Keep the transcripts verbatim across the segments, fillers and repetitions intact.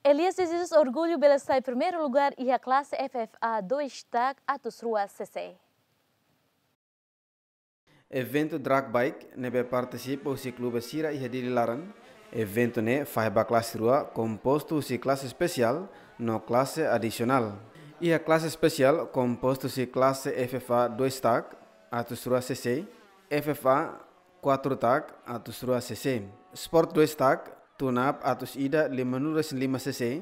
Elias de Jesus orgullu bele sai primeiru lugar iha klase F F A dois tak atus rua C C. Eventu drag bike ne'ebé partisipa husi klube sira iha Dili laran. Eventu ne'e fahe ba klase rua, kompostu husi klase espesiál no klase adisionál. Iha klase espesiál kompostu husi klase F F A dois tak atus rua C C, F F A kuatru tak atus rua C C, Sport dois tak tune-up atus ida limanulu-resin-lima C C,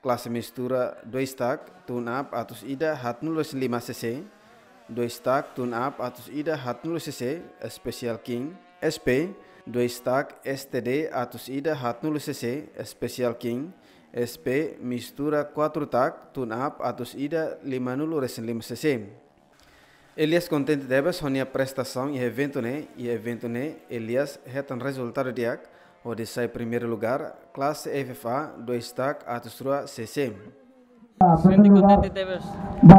klase mistura dois tak tune-up atus ida haatnulu-resin-lima C C, dois tak tune-up atus ida haatnulu C C, Special King, S P dois tak S T D atus ida haatnulu C C, Special King, S P mistura kuatru tak tune-up atus ida limanulu-resin-lima C C. Elias kontente tebes ho nia prestasaun iha eventu ne'e. Iha eventu ne'e Elias hetan rezultadu di'ak, hodi sai primeiru lugar klase F F A dois tak atus rua C C. Sente kontente tebes ba,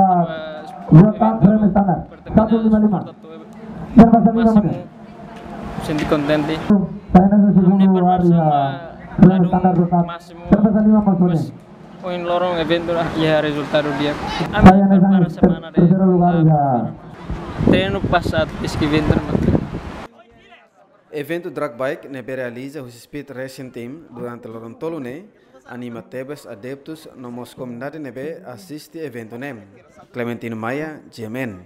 ba eventu pertemuan Sport atu másimu. Sente kontente. Ami-nia preparasaun ba ladún másimu. Ohin loron eventu iha rezultadu di'ak. Ami prepara semana de treinu pasá iha eventu. Eventu drag bike ne'ebé realiza husi Speed Racing Team durante loron tolu ne'e anima tebes adeptus no mós komunidade ne'ebé asiste eventu ne'e. Clementino Maia, G M N.